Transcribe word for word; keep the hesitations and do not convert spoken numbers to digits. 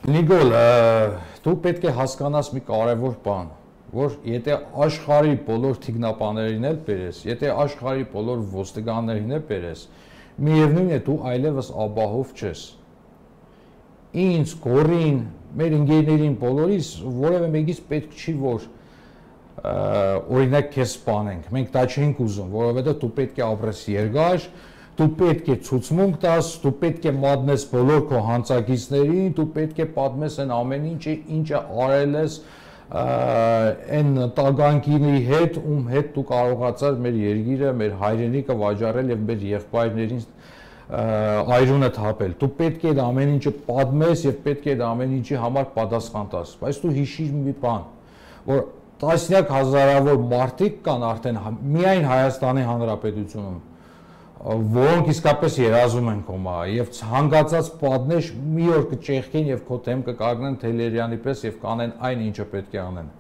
Նիկոլ, դու պետք է հասկանաս մի կարևոր բան, որ եթե աշխարհի բոլոր թիկնապաներին էլ բերես, եթե աշխարհի բոլոր ոստիկաններին էլ բերես, միևնույն է դու այլևս ապահով չես։ Ինձ, Գորին, մեր ընկերներին բոլորիս որևէ մեկից պետք չի, որ օրինակ քեզ սպանենք։ Մենք դա չենք ուզում, որովհետև դու պետք է ապրես երկար, դու պետք է ցուցմունք տաս, դու պետք է մատնես բոլոր քո հանցագիծներին, դու պետք է պատմես այն ամեն ինչը, ինչը արել ես այն տագանքինի հետ, ում հետ դու կարողացար մեր երկիրը, մեր հայրենիքը վաճառել եւ մեր եղբայրներին այրունը թափել։ Դու պետք է այդ ամեն ինչը պատմես եւ պետք է այդ ամեն ինչի համար պատասխան տաս։ Բայց դու հիշիր մի բան, որ տասնյակ հազարավոր մարդիկ կան արդեն միայն Հայաստանի Հանրապետությունում, որոնք իսկապես երազում են քո մահը եւ ցանկացած պատնեշ մի օր կճեղքեն եւ քո դեմ կկանգնեն Թելերյանի պես եւ կանեն այն ինչը պետք է անեն։